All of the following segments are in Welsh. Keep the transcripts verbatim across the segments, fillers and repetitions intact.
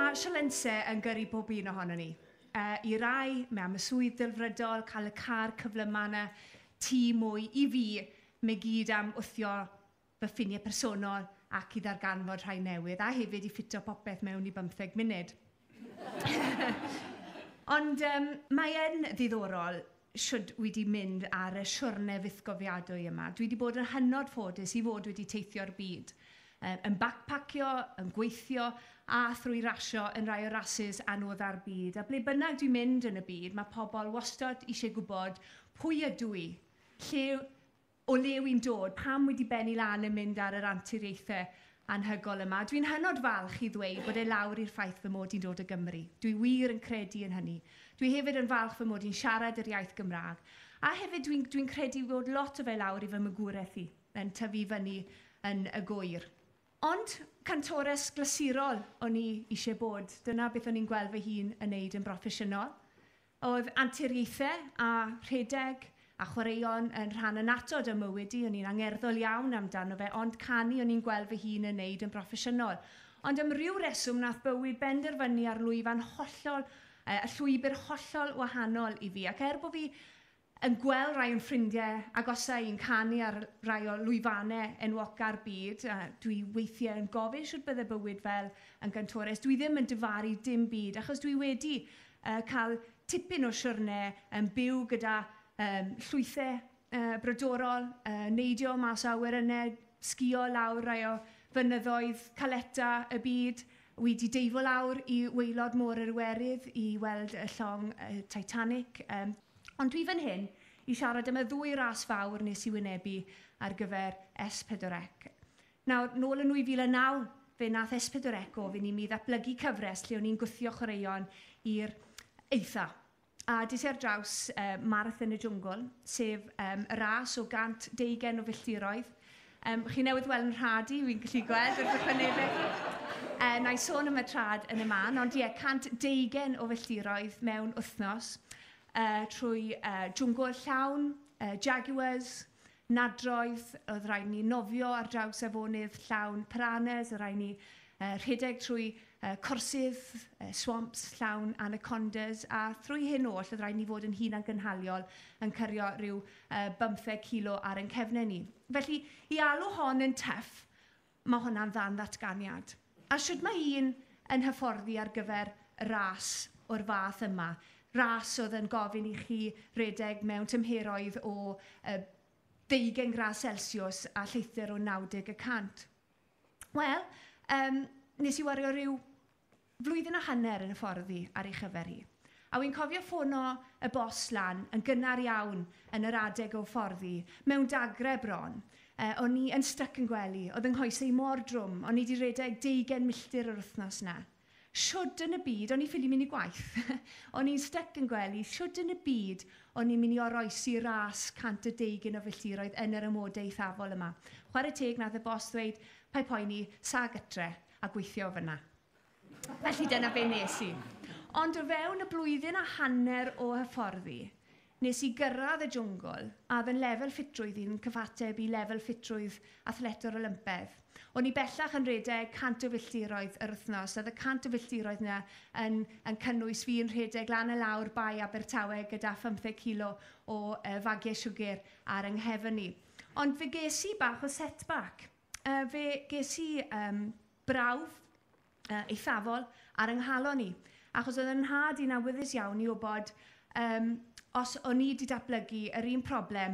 Mae sialensau yn gyrru bob un ohono ni. Uh, I rai, mae am y swydd delfrydol, cael y car cyflyma yna, tŷ mwy. I fi, mae gyd am wthio fy ffiniau personol ac i ddarganfod rhai newydd, a hefyd i ffito popeth mewn i bymtheg munud. Ond um, mae yn ddiddorol shwd wedi mynd ar y siwrne fythgofiadwy yma. Dwi wedi bod yn hynod ffodus i fod wedi teithio'r byd. Um, yn backpackio, yn gweithio a thrwy rasio yn rai o rasys anodda'r byd. A ble bynnag dwi'n mynd yn y byd, mae pobl wastad eisiau gwybod pwy ydw i, lle, o le wy'n dod, pam wedi bennu lan yn mynd ar yr anturiaethau anhygoel yma. Dwi'n hynod falch i ddweud bod e lawr i'r ffaith fy mod i'n dod o Gymru. Dwi wir yn credu yn hynny. Dwi hefyd yn falch fy mod i'n siarad yr iaith Gymraeg. A hefyd dwi'n dwi credu bod lot o fe lawr i fy magwraeth i, yn tyfu fyny yn y Gŵyr. Ond cantores glasurol o'n i eisiau bod. Dyna beth o'n i'n gweld fy hun yn neud yn broffesiynol. Oedd anturiaethau a rhedeg a chwaraeon yn rhan annatod o mywyd i, o'n i'n angerddol iawn amdano fe, ond canu o'n i'n gweld fy hun yn neud yn broffesiynol. Ond am ryw reswm nath bywyd benderfynu ar lwyfan hollol, y llwybr hollol wahanol i fi. Ac er bod fi yn gweld rai o'n ffrindiau agosau i'n canu ar rai o lwyfannau enwoca'r byd, a dwi weithiau yn gofyn shwt bydde bywyd fel yn gantores. Dwi ddim yn difaru dim byd, achos dwi wedi uh, cael tipyn o siwrne yn byw gyda um, llwythau uh, brodorol, uh, neidio mas o awyrennau, sgio lawr rai o fynyddoedd caleta y byd. Wedi deifo lawr i waelod môr yr Iwerydd i weld y llong uh, Titanic. Um, ond dwi fan hyn i siarad am y ddwy ras fawr nes i wynebu ar gyfer S pedwar C. Nawr, nôl yn nwy fil a naw, fe nath S pedwar C ofyn i mi ddatblygu cyfres lle o'n i'n gwthio chwaraeon i'r eitha. A des i ar draws uh, Marathon y Jwngl, sef um, y ras o gant deugain o filltiroedd. Um, chi newydd weld yn rhad i, fi'n gallu gweld wrth y chwynebau. Uh, na i sôn am y trad yn y man, ond ie, cant deugain o filltiroedd mewn wythnos uh, trwy uh, jwngl llawn, uh, jaguars, nadroedd, oedd rhaid ni nofio ar draws afonydd llawn piranhas, oedd rhaid ni uh, rhedeg trwy uh, corsydd, uh, swamps llawn anacondas, a thrwy hyn oll oedd rhaid ni fod yn hunangynhaliol yn cario rhyw uh, bymtheg kilo ar ein cefnau ni. Felly, i alw hon yn tough, mae hwnna'n ddan ddatganiad. A shwd mae un yn hyfforddi ar gyfer ras o'r fath yma? Ras oedd yn gofyn i chi redeg mewn tymheroedd o uh, deugain gradd Celsius a lleithder o naw deg y cant. Wel, um, nes i wario rhyw flwyddyn a hanner yn hyfforddi ar ei chyfer hi. A wy'n cofio ffono y bos lan yn gynnar iawn yn yr adeg o hyfforddi, mewn dagre bron. Uh, o'n i yn styc yn gwely, oedd yng nghoesau mor drwm, o'n i wedi rhedeg deugain milltir yr wythnos na. Shwd yn y byd, o'n i ffili mynd i gwaith, o'n i'n styc yn gwely, shwd yn y byd o'n i'n mynd i oroesi ras cant a deugain o filltiroedd yn yr amodau eithafol yma. Chwarae teg nath y bos ddweud, paid poeni, sa gytre a gweithio fyna. Felly dyna be nes i. Ond o fewn y blwyddyn a hanner o hyfforddi, nes i gyrraedd y jwngl a oedd yn lefel ffitrwydd i'n cyfateb i lefel ffitrwydd athletwr Olympedd. O'n i bellach yn rhedeg cant o filltiroedd yr wythnos. Oedd y cant o filltiroedd yna yn, yn cynnwys fi yn rhedeg lan a lawr Bae Abertawe gyda phymtheg kilo o uh, fagiau siwgr ar yng nghefn i. Ond fe ges i bach o setback. Uh, fe ges i um, brawf uh, eithafol ar yng nghalon i. Achos oedd yn nhad i'n awyddus iawn i wybod um, os o'n i wedi datblygu yr un problem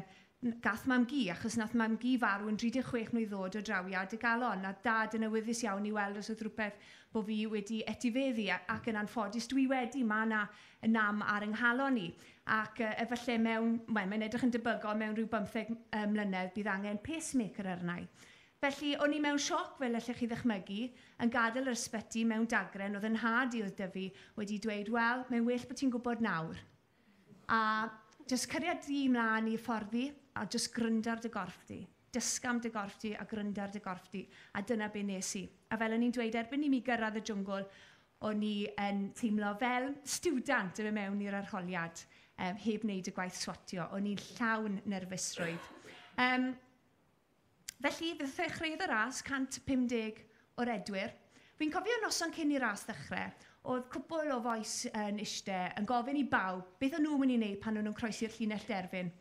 gath mam-gu, achos nath mam-gu farw yn dri deg chwech mlwydd oed o drawiad y galon, a dad yn awyddus iawn i weld os oedd rhywbeth bod fi wedi etifeddu, ac yn anffodus dwi wedi, mae yna nam ar yng nghalon i. Ac uh, efallai mewn, well, mae'n edrych yn debygol mewn rhyw bymtheg uh, mlynedd bydd angen pacemaker arna i. Felly, o'n i mewn sioc, fel allech chi ddychmygu, yn gadael yr ysbyty mewn dagren, oedd yn nhad i oedd dyfu wedi dweud, wel, mae'n well bod ti'n gwybod nawr. A jyst cariad di mlaen i fforddi, a jyst gryndo ar dy gorff di. Dysga am dy gorff di a gryndo ar dy gorff di. A dyna be nes i. A fel o'n i'n dweud, erbyn i mi gyrraedd y jwngl, o'n i yn teimlo fel stiwdant yn mynd mewn i'r arholiad, um, heb wneud y gwaith swatio. O'n i'n llawn nerfusrwydd. Um, felly, fe ddechreuodd y ras cant pum deg o redwyr. Fi'n cofio noson cyn i'r ras ddechrau, oedd cwpl o fois yn iste yn gofyn i bawb beth o'n nhw'n mynd i wneud pan o'n nhw'n croesi'r llinell derfyn.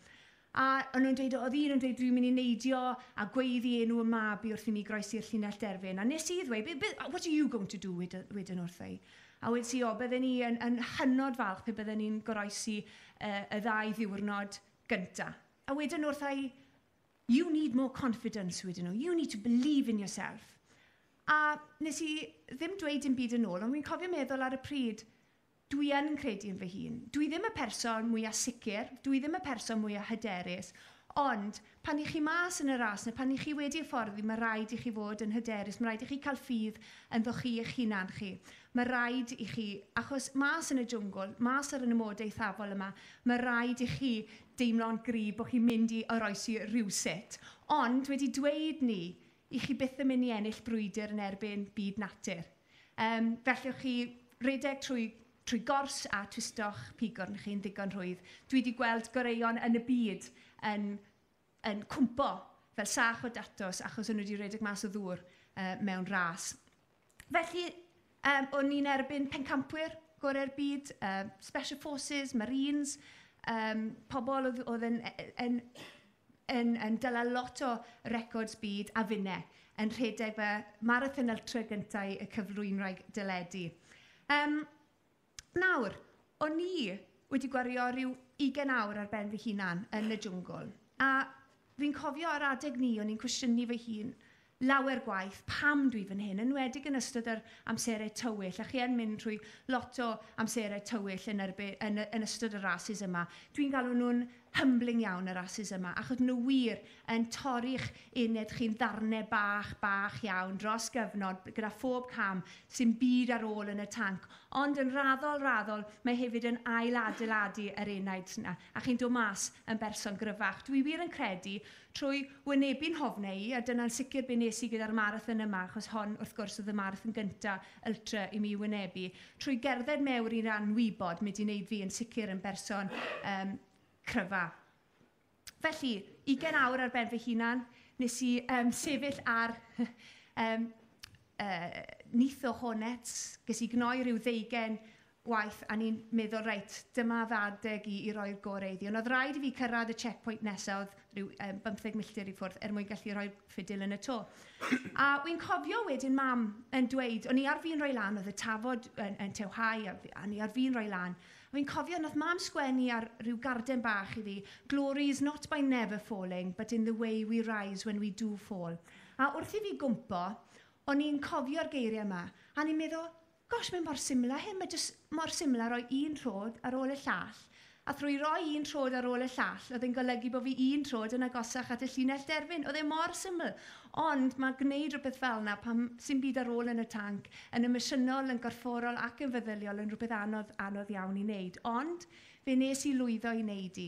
A o'n nhw'n dweud, oedd un yn dweud, "Dwi'n mynd i neidio a gweiddi enw y mab i wrth i mi groesi'r llinell derfyn." A nes i ddweud, "What are you going to do?" wedyn wrtho i. A wedes i, o, bydden ni yn, yn hynod falch pe bydden ni'n goroesi uh, y ddau ddiwrnod gynta. A wedyn wrtha i, "You need more confidence," wedyn nhw. "You need to believe in yourself." A nes i ddim dweud dim byd yn ôl, ond fi'n cofio meddwl ar y pryd, dwi yn credu yn fy hun. Dwi ddim y person mwyaf sicr, dwi ddim y person mwyaf hyderus, ond pan i chi mas yn y ras, neu pan i chi wedi hyfforddi, mae rhaid i chi fod yn hyderus, mae rhaid i chi cael ffydd ynddo chi eich hunan chi. Mae rhaid i chi, achos mas yn y jwngl, mas ar yn y mod eithafol yma, mae rhaid i chi deimlo'n gryf bod chi'n mynd i oroesi rhywsut. Ond wedi dweud ni, i chi byth yn mynd i ennill brwydr yn erbyn byd natur. Um, felly chi redeg trwy, trwy gors a twisto'ch pigwrn chi'n ddigon rhwydd. Dwi wedi gweld goreuon yn y byd yn, yn cwmpo fel sach o datos achos o'n nhw wedi redeg mas o ddŵr uh, mewn ras. Felly, um, o'n i'n erbyn pencampwyr gorau'r byd, uh, Special Forces, Marines, um, pobl oedd, oedd yn, yn, yn, yn dyla lot o records byd a finne yn rhedeg fy marathon ultra gyntaf y cyflwynwraig deledu. Um, nawr, o'n i wedi gwario rhyw ugain awr ar ben fy hunan yn y jwngl. A fi'n cofio ar adeg ni, o'n i'n cwestiynu fy hun lawer gwaith pam dwi fan hyn, enwedig yn ystod yr amserau tywyll, a chi yn mynd trwy lot o amserau tywyll yn, erbyn, yn, yn ystod y rases yma. Dwi'n galw nhw'n humbling iawn y rases yma, achos nhw wir yn torri'ch enaid chi'n ddarnau bach, bach iawn dros gyfnod gyda phob cam sy'n byd ar ôl yn y tanc. Ond yn raddol, raddol, mae hefyd yn ail adeiladu yr enaid yna, a chi'n dod mas yn berson gryfach. Dwi wir yn credu trwy wynebu'n hofnau i, a dyna'n sicr be nes i gyda'r marathon yma, achos hon wrth gwrs oedd y marathon gynta ultra i mi wynebu, trwy gerdded mewn i'r anwybod, mynd i wneud fi yn sicr yn berson um, cryfa. Felly, ugain awr ar ben fy hunan, nes i um, sefyll ar um, uh, nyth o hornets, ges i gnoi rhyw ddeugen waith, a ni'n meddwl, reit, dyma f'adeg i, i roi'r gorau iddi. Ond oedd rhaid i fi cyrraedd y checkpoint nesaf, oedd rhyw um, bymtheg milltir i ffwrdd, er mwyn gallu rhoi'r ffidil yn y to. A wy'n cofio wedyn mam yn dweud, o'n i ar fin rhoi lan, oedd y tafod yn, yn tewhau, a, a ni ar fin rhoi lan. A fi'n cofio, nath mam sgwennu ar rhyw garden bach i fi, "Glory is not by never falling, but in the way we rise when we do fall." A wrth i fi gwmpo, o'n i'n cofio'r geiriau yma, a ni'n meddwl, gosh, mae'n mor syml â hyn, mae jyst mor syml â rhoi un troed ar ôl y llall. A thrwy roi un troed ar ôl y llall, oedd e'n golygu bod fi un troed yn agosach at y llinell derfyn. Oedd e mor syml. Ond mae gwneud rhywbeth fel yna pan sy'n byd ar ôl yn y tanc, yn emosiynol, yn gorfforol ac yn feddyliol yn rhywbeth anodd, anodd iawn i wneud. Ond fe nes i lwyddo i wneud i.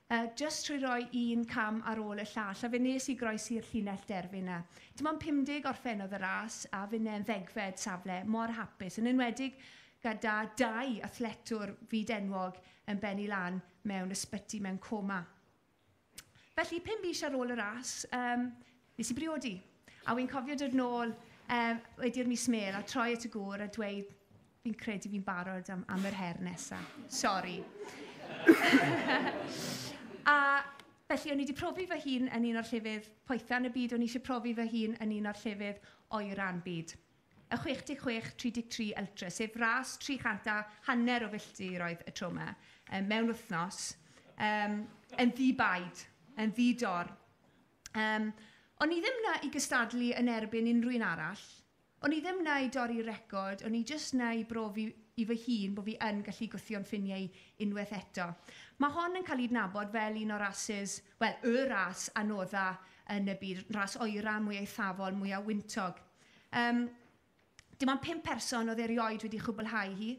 Uh, just trwy roi un cam ar ôl y llall, a fe nes i groesi'r llinell derfyn yna. Dim ond pum deg orffennodd y ras, a finne'n ddegfed safle, mor hapus, yn enwedig gyda dau athletwr fyd enwog yn benni lan mewn ysbyty mewn coma. Felly, pum mis ar ôl y ras, um, nes i briodi. A wy'n cofio dod nôl um, wedi'r mis mêl a troi at y gŵr a dweud, "Fi'n credu fi'n barod am, am yr her nesaf. Sori." A felly o'n i wedi profi fy hun yn un o'r llefydd poetha yn y byd, o'n i eisiau profi fy hun yn un o'r llefydd oera'n byd. Y chwe deg chwech tri deg tri Ultra, sef ras tri chant a hanner o filltiroedd y tro yma, um, mewn wythnos, um, yn ddi-baid, yn ddi-dor. Um, o'n i ddim na i gystadlu yn erbyn unrhyw un arall. O'n i ddim na i dorri record, o'n i jyst na i brofi i fy hun bod fi yn gallu gwthio'n ffiniau unwaith eto. Mae hon yn cael ei adnabod fel un o'r rases, wel, y ras anodda yn y byd, ras oera, mwy eithafol, mwyaf wyntog. Um, dim ond pum person oedd erioed wedi chwblhau hi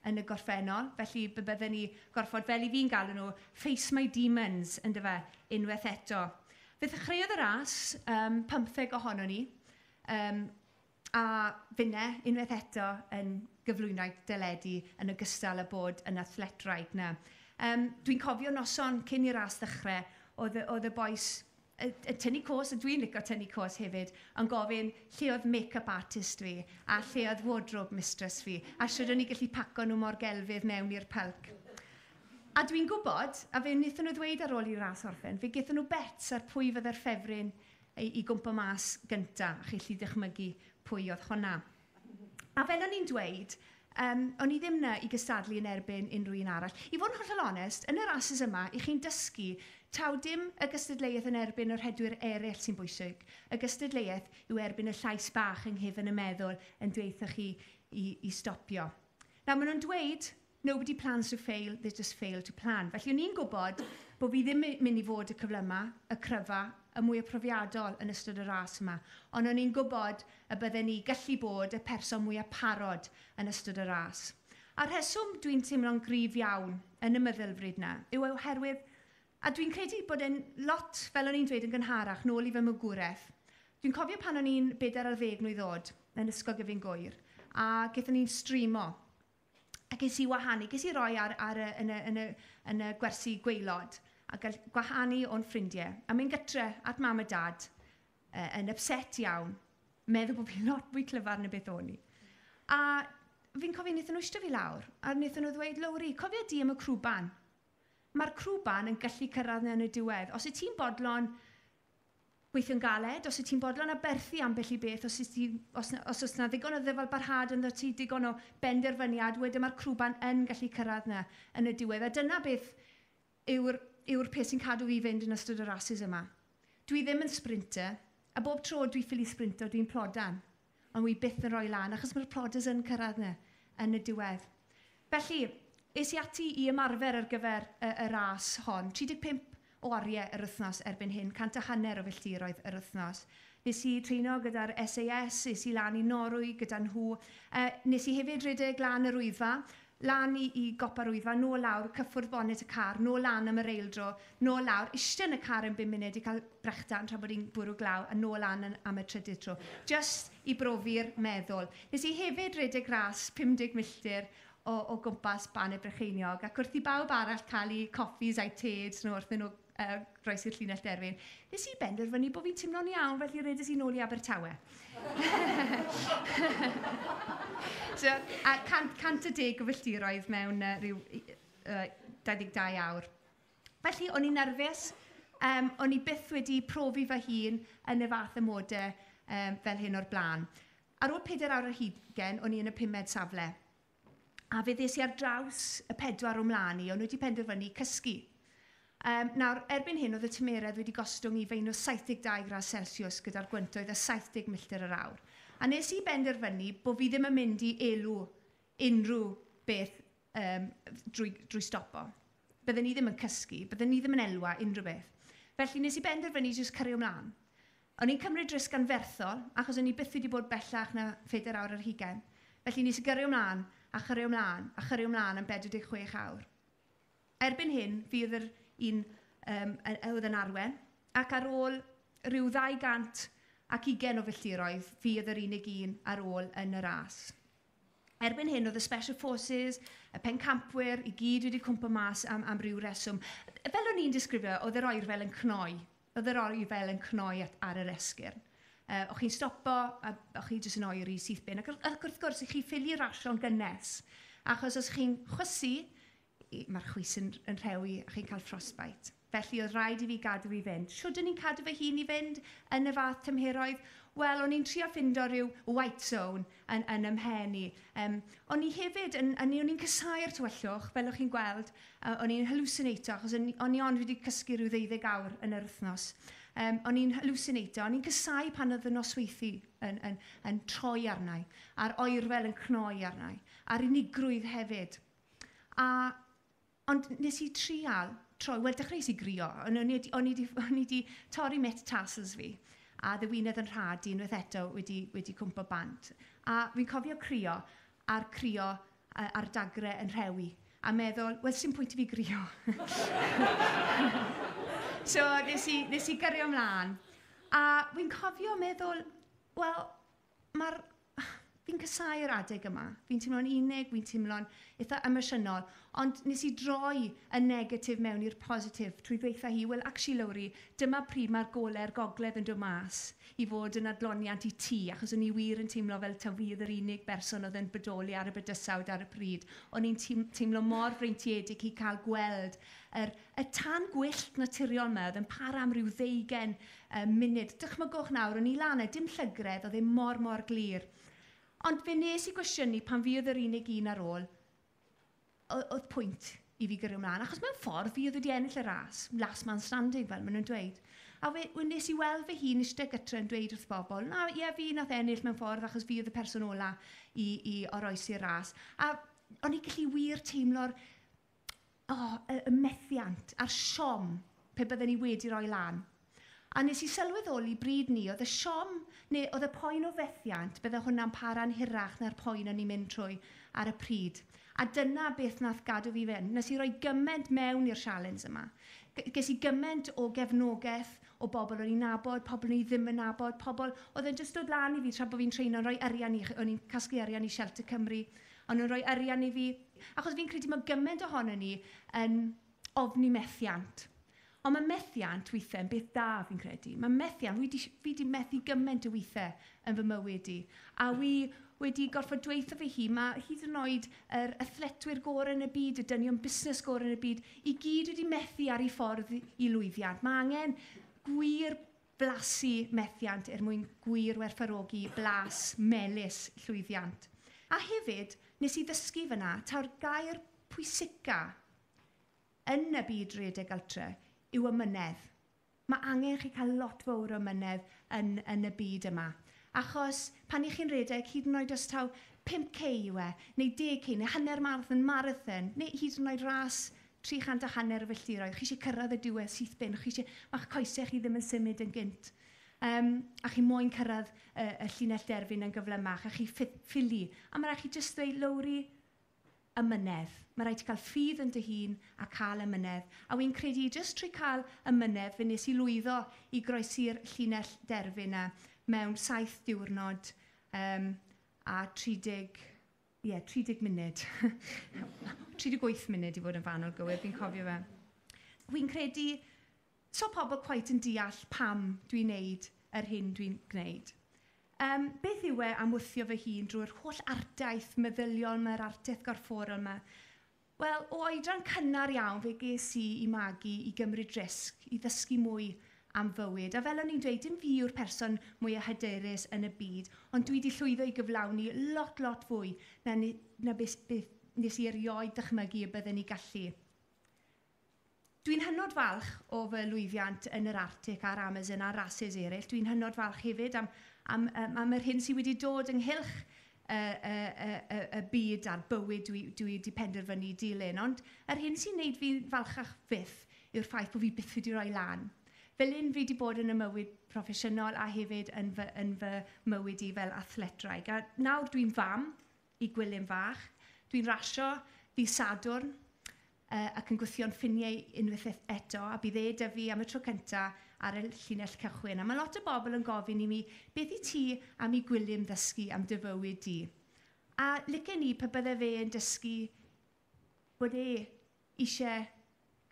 yn y gorffennol, felly bydden ni gorfod, fel i fi'n galw nhw, face my demons, yn dyfe, unwaith eto. Fe ddechreuodd y ras, um, pymtheg ohono ni, um, a finne, unwaith eto, yn gyflwynwraig deledu yn ogystal â bod yn athletwraig na. Um, Dwi'n cofio noson cyn i'r ras ddechrau, oedd, oedd y bois y, y tynnu cos, a dwi'n licio tynnu cos hefyd, yn gofyn lle oedd make-up artist fi, a lle oedd wardrobe mistress fi, a shwd o'n i gallu paco nhw mor gelfydd mewn i'r pulk. A dwi'n gwybod, a fe wnaethon nhw ddweud ar ôl i'r ras orffen, fe gaethon nhw bets ar pwy fydde'r ffefryn i, i gwmpa mas gynta, a chi allu dychmygu pwy oedd hwnna. A fel o'n i'n dweud, um, o'n i ddim na i gystadlu yn erbyn unrhyw un arall. I fod yn hollol onest, yn y rasys yma, i chi'n dysgu taw dim y gystadleuaeth yn erbyn yr rhedwyr eraill sy'n bwysig. Y gystadleuaeth yw erbyn y llais bach yng nghefn y meddwl yn dweutho chi i, i stopio. Nawr, maen nhw'n dweud, "Nobody plans to fail, they just fail to plan." Felly o'n i'n gwybod bod fi ddim mynd i fod y cyflyma, y cryfa, y mwy profiadol yn ystod y ras yma. Ond o'n i'n gwybod y bydden ni gallu bod y person mwyaf parod yn ystod y ras. A'r rheswm dwi'n teimlo'n gryf iawn yn y meddylfryd na yw oherwydd, a dwi'n credu bod e'n lot, fel o'n i'n dweud yn gynharach, nôl i fy magwraeth. Dwi'n cofio pan o'n i'n bedair ar ddeg mlwydd oed yn Ysgol Gyfun Gŵyr, a gaethon ni'n streamo. A ges i wahanu, ges i roi ar, ar y, yn, y, yn, y, yn y gwersi gwaelod, a gael gwahanu o'n ffrindiau. A mynd gytre at mam a dad, uh, yn upset iawn, meddwl bod fi'n lot fwy clyfar na beth o'n i. A fi'n cofio wnaethon nhw eistedd fi lawr, a wnaethon nhw ddweud, "Lowri, cofio di am y crwban. Mae'r crwban yn gallu cyrraedd yn y diwedd. Os wyt ti'n bodlon gweithio'n galed, os wyt ti'n bodlon aberthu ambell i beth, os, ti, os, os oes na ddigon o ddyfal barhad ynddo ti, digon o benderfyniad, wedyn mae'r crwban yn gallu cyrraedd na yn y diwedd." A dyna beth yw'r yw'r peth sy'n cadw fi fynd yn ystod y rasys yma. Dwi ddim yn sprinter, a bob tro dwi ffili sprinto, dwi'n plodan. Ond wi byth yn rhoi lan, achos mae'r plodders yn cyrraedd na yn y diwedd. Felly, es i ati i ymarfer ar gyfer y, y ras hon. tri deg pump o oriau yr wythnos erbyn hyn, cant a hanner o filltiroedd yr wythnos. Nes i treino gyda'r S A S, es i lan i Norwy gyda nhw. Uh, nes i hefyd redeg lan yr Wyddfa, lan i, i gopa'r Wyddfa, nôl lawr, cyffwrdd bonet y car, nôl lan am yr eildro, nôl lawr, eistedd yn y car yn bum munud i cael brechdan tra bod hi'n bwrw glaw, a nôl lan yn, am y trydydd tro. Just i brofi'r meddwl. Nes i hefyd redeg ras pum deg milltir o, o gwmpas Bannau Brycheiniog, ac wrth i bawb arall cael eu coffis a'u teds nhw wrth nhw uh, groesi'r llinell derfyn, nes i benderfynu bod fi'n teimlo'n iawn, felly redes i nôl i Abertawe. So, a cant, cant a deg o filltiroedd mewn uh, rhyw uh, dau ddeg dau awr. Felly, o'n i'n nerfus, um, o'n i byth wedi profi fy hun yn y fath amodau um, fel hyn o'r blaen. Ar ôl pedair awr ar hugain, o'n i yn y pumed safle. A fe ddes i ar draws y pedwar o mlaen i, o'n nhw wedi penderfynu cysgu. Um, nawr, erbyn hyn, oedd y tymeredd wedi gostwng i feinws saith deg dau gradd Celsius gyda'r gwyntoedd a saith deg milltir yr awr. A nes i benderfynu bod fi ddim yn mynd i elw unrhyw beth um, drwy, drwy stopo. Bydden ni ddim yn cysgu, bydden ni ddim yn elwa unrhyw beth. Felly nes i benderfynu jyst cario ymlaen. O'n i'n cymryd risg anferthol, achos o'n i byth wedi bod bellach na phedair awr ar hugain. Felly nes i gyrru ymlaen, a chyrru ymlaen, a chyrru ymlaen am bedwar deg chwech awr. Erbyn hyn, fi oedd yr un um, oedd yn arwen, ac ar ôl rhyw ddau gant ac ugain o filltiroedd, fi oedd yr unig un ar ôl yn y ras. Erbyn hyn, oedd y Special Forces, y pencampwyr, i gyd wedi cwmpa mas am, am ryw reswm. Fel o'n i'n disgrifio, oedd yr oerfel yn cnoi. Oedd yr oerfel yn cnoi at, ar yr esgyrn. Uh, o'ch chi'n stopo, a o'ch chi jyst yn oeri syth bin. Ac, ac wrth gwrs, i'ch chi ffili rasio'n gynnes. Achos os chi'n chwysu, mae'r chwys yn, yn rhewi a chi'n cael frostbite. Felly oedd rhaid i fi gadw i fynd. Shwd o'n i'n cadw fy hun i fynd yn y fath tymheroedd? Wel, o'n i'n trio ffindo rhyw white zone yn, yn 'y mhen i. Um, o'n i hefyd, yn, yn, o'n i'n casáu'r tywyllwch, fel o'ch chi'n gweld, uh, o'n i'n hallucinato, achos o'n, o'n i ond wedi cysgu rhyw ddeuddeg awr yn yr wythnos. Um, o'n i'n hallucinato, o'n i'n casáu pan oedd y nosweithi yn, yn, yn troi arnau, a'r oerfel yn cnoi arnau, a'r unigrwydd hefyd. A, ond nes i trial troi, wel, dechreuais i grio, o'n i o'n i o'n i wedi torri metatarsals fi, a ddewinedd yn rhad unwaith eto wedi, wedi cwmpo bant. A fi'n cofio crio, a'r crio a'r dagre yn rhewi, a meddwl, wel, sy'n pwynt i fi grio. So, nes i, nes i gyrio ymlaen. A fi'n cofio meddwl, wel, mae'r Fi'n casáu'r adeg yma. Fi'n teimlo'n unig, fi'n teimlo'n eitha emosiynol. Ond nes i droi y negatif mewn i'r positif trwy ddweutha hi, "Well, actually, Lowri, dyma pryd mae'r gole'r gogledd yn dod mas i fod yn adloniant i ti," achos o'n i wir yn teimlo fel taw fi oedd yr unig berson oedd yn bodoli ar y bydysawd ar y pryd. O'n i'n teimlo mor freintiedig i cael gweld yr, y tân gwyllt naturiol yma oedd yn para am ryw ddeugain uh, munud. Dychmygwch nawr, o'n i lan e, dim llygredd, oedd e mor, mor glir. Ond fe nes i gwestiynu pan fi oedd yr unig un ar ôl, oedd pwynt i fi gyrru ymlaen. Achos mewn ffordd, fi oedd wedi ennill y ras, last man standing fel maen nhw'n dweud. A fe, nes i weld fy hun eistedd gytre yn dweud wrth bobl, "Na, ie, fi nath ennill mewn ffordd achos fi oedd y person ola i, i oroesi'r ras." A o'n i gallu wir teimlo'r oh, y, y methiant a'r siom pe bydden ni wedi rhoi lan. A nes i sylweddoli bryd 'ny, oedd y siom, neu oedd y poen o fethiant, bydde hwnna'n para'n hirach na'r poen o'n i'n mynd trwy ar y pryd. A dyna beth nath gadw fi fynd. Nes i roi gymaint mewn i'r sialens yma. Ges i gymaint o gefnogaeth o bobl o'n i'n nabod, pobl o'n i ddim yn nabod, pobl oedd yn jyst dod lan i fi tra bod fi'n treino, rhoi arian i, o'n i'n casglu arian i Shelter Cymru, o'n nhw'n rhoi arian i fi. Achos fi'n credu mae gymaint ohono ni yn ofni methiant. Ond mae methiant weithiau yn beth da, fi'n credu. Mae methiant, fi wedi, fi wedi methu gymaint o weithiau yn fy mywyd i. A wi wedi gorfod dweutho fi hi, mae hyd yn oed yr athletwyr gorau yn y byd, y dynion busnes gorau yn y byd, i gyd wedi methu ar ei ffordd i lwyddiant. Mae angen gwir blasu methiant er mwyn gwir werthfawrogi blas melys llwyddiant. A hefyd, nes i ddysgu fyna, taw'r gair pwysica yn y byd redeg ultra yw amynedd. Mae angen chi cael lot fawr o amynedd yn, yn y byd yma. Achos pan i chi'n redeg, hyd yn oed os taw pump K yw e, neu deg K, neu hanner marathon, marathon, neu hyd yn oed ras tri chant a hanner o filltiroedd, chi eisiau cyrraedd y diwedd syth bin, chi eisiau, mae'ch coesau chi ddim yn symud yn gynt. Um, a chi moyn cyrraedd y, y llinell derfyn yn gyflymach, a chi ffili. A mae rhaid chi jyst dweud, "Lowri, amynedd. Mae rhaid ti cael ffydd yn dy hun a cael amynedd." A wy'n credu jyst trwy cael amynedd, fe nes i lwyddo i groesi'r llinell derfyn yna mewn saith diwrnod um, a tri deg, yeah, tri deg munud. tri deg wyth munud i fod yn fanwl gywir, fi'n cofio fe. Wy'n credu, so pobl quite yn deall pam dwi'n neud yr hyn dwi'n gwneud. Um, beth yw e am wthio fy hun drwy'r holl ardaith meddyliol yma, yr ardaith gorfforol yma? Wel, o oedran cynnar iawn fe ges i i magu i gymryd risg, i ddysgu mwy am fywyd. A fel o'n i'n dweud, dim fi yw'r person mwyaf hyderus yn y byd, ond dwi wedi llwyddo i gyflawni lot, lot fwy na, na beth, beth nes i erioed dychmygu y bydden ni gallu. Dwi'n hynod falch o fy lwyddiant yn yr Arctic a'r Amazon a'r rasys eraill. Dwi'n hynod falch hefyd am, am, am, am yr hyn sydd wedi dod ynghylch y, y, y, y, y byd a'r bywyd dwi, dwi wedi penderfynu dilyn. Ond yr hyn sy'n neud fi'n falchach fyth yw'r ffaith bod fi byth wedi rhoi lan. Fel un fi wedi bod yn y mywyd proffesiynol a hefyd yn fy, yn fy mywyd i fel athletraig. A nawr dwi'n fam i Gwilym fach. Dwi'n rasio ddydd Sadwrn uh, ac yn gwthio'n ffiniau unwaith eto, a bydd e 'da fi am y tro cyntaf ar y llinell cychwyn. A mae lot o bobl yn gofyn i mi, "Beth i ti am i Gwilym ddysgu am dy fywyd di?" A licen i pe bydde fe yn dysgu bod e eisiau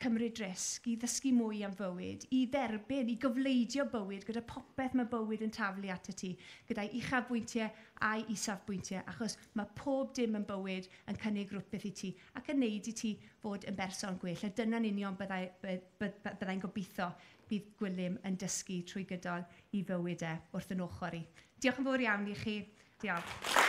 cymryd risg, i ddysgu mwy am fywyd, i dderbyn, i gofleidio bywyd gyda popeth mae bywyd yn taflu at y ti, gyda'i uchafbwyntiau a'i isafbwyntiau, achos mae pob dim yn bywyd yn cynnig rhywbeth i ti ac yn neud i ti fod yn berson gwell. A dyna'n union byddai'n byddai gobeithio bydd Gwilym yn dysgu trwy gydol i fywyd e wrth yn ochr i. Diolch yn fawr iawn i chi. Diolch.